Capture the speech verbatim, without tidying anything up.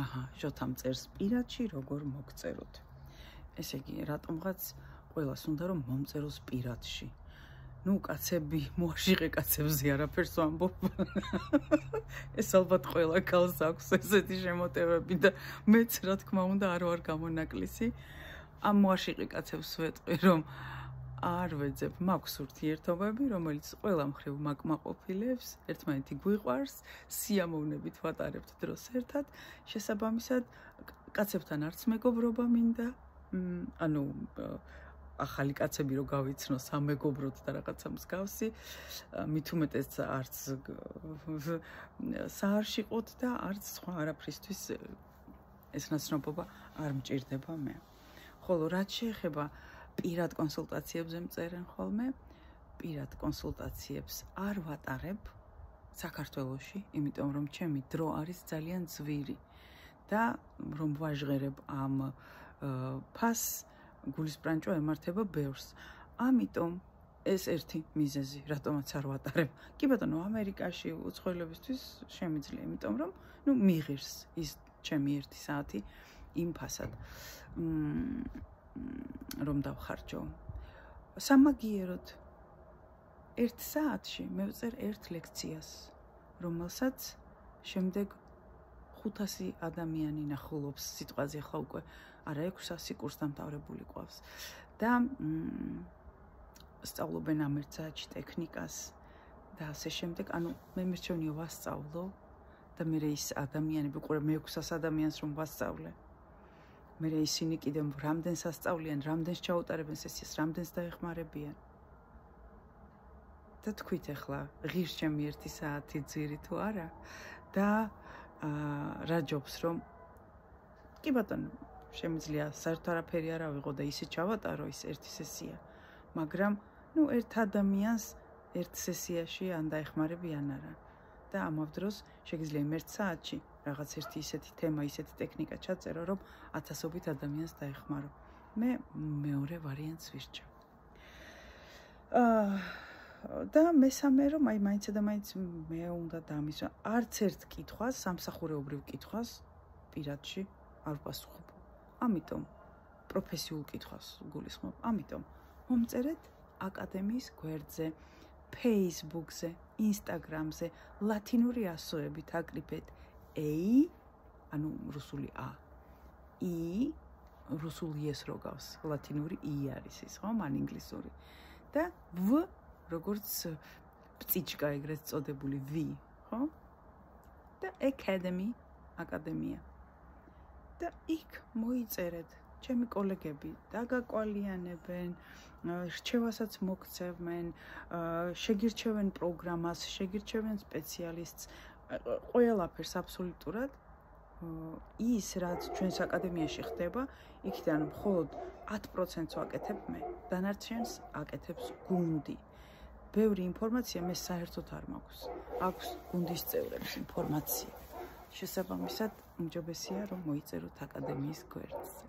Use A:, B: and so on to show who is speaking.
A: აჰა, შოთამ წერს პირადში როგორ მოგწეროთ. ესე იგი, რატომღაც ყველას უნდა რომ მომწეროს პირადში. ნუ კაცები, მოაშიყე კაცებზე არაფერს ვამბობ. ეს ალბათ ყველა ქალს აქვს ესეთი შემოტევები და მეც რა თქმა უნდა არ ვარ გამონაკლისი. ამ მოაშიყე კაცებს ვეტყვი რომ არ ვეძებ, მაქვს ურთიერთობები, რომელიც ყველა მხრივ მაკმაყოფილებს, ერთმანეთი გვიყვარს, სიამოვნებით ვატარებთ დროს ერთად, შესაბამისად კაცებთან არც მეგობრობა მინდა, ანუ ახალი კაცები რო გავიცნო სამეგობროდ და რაღაცა მსგავსი, მით უმეტეს არც საარშიყოთ და არც სხვა არაფრისთვის ეს ნაცნობობა არ მჭირდება მე. ხოლო რაც შეეხება პირად კონსულტაციებზე მწერენ ხოლმე, პირად კონსულტაციებს არ ვატარებ საქართველოში, იმიტომ რომ ჩემი დრო არის ძალიან ძვირი და რომ ვაჟღერებ ამ ფასს, გულის ბრანჭო ემართება ბევრს. ამიტომ ეს ერთი მიზეზი, რატომაც არ ვატარებ. კი ბატონო, ამერიკაში უცხოელებისთვის შემიძლია, იმიტომ რომ ნუ მიღირს ის ჩემი ერთი საათი იმ ფასად. რომ დავხარჯო. სამაგიეროდ ერთ საათში მე ვწერ ერთ ლექციას, რომელსაც შემდეგ ხუთასი ადამიანი ნახულობს სიტყვაზე ხა უკვე არა ექვსასი კურსდამთავრებული ყავს და სწავლობენ ამ ერთ საათში ტექნიკას და ასე შემდეგ. ანუ მე მერჩევნია ვასწავლო და მე ის ადამიანები ყურე მე ექვსას ადამიანს რომ ვასწავლე. მე ისინი კიდევ რამდენს ასწავლიან, რამდენს ჩაუტარებენ სესიას, რამდენს დაეხმარებიან. და თქვით ახლა, ღირს ჩემი ერთი საათი ძირი თუ არა და რა ჯობს რომ კი ბატონო, შემიძლია საერთოდ არაფერი არ ავიღო და ისე ჩავატარო ის ერთი სესია, მაგრამ ნუ ერთ ადამიანს ერთ სესიაში ან დაეხმარები ან არა. და ამავ დროს შეგიძლია იმ ერთ საათში რაღაც ერთი ისეთი თემა, ისეთი ტექნიკა ჩაწერო, რომ ათასობით ადამიანს დაეხმარო. მე მეორე ვარიანტს ვირჩევ. და მესამე რომ აი მაინც და მაინც მე უნდა დამისვა. არც ერთ კითხვას, სამსახურეობრივ კითხვას პირადში არ ვპასუხობ. ამიტომ პროფესიულ კითხვას გულისხმობ. ამიტომ მომწერეთ აკადემიის გვერდზე, Facebook-ზე, Instagram-ზე, ლათინური ასოებით აკრიფეთ A, ანუ რუსული A, I, რუსული S როგავს, ლათინური I არის ის, ხო, მან ინგლისური. და V, როგორც პწიჩკა ეგრეთ წოდებული V, ხო? და Academy, აკადემია. და იქ მოიწერეთ. ჩემი კოლეგები დაგაკვალიანებენ, რჩევასაც მოგცემენ, შეგირჩევენ პროგრამას, შეგირჩევენ სპეციალისტს, ყველაფერს აბსოლუტურად ის რაც ჩვენს აკადემიაში ხდება, იქიდან მხოლოდ ათი პროცენტს ვაკეთებ მე, დანარჩენს აკეთებს გუნდი. ბევრი ინფორმაცია მე საერთოდ არ მაქვს. აქვს გუნდის წევრებს ინფორმაცია. შესაბამისად, უმჯობესია რომ მოიწეროთ აკადემიის გვერდზე.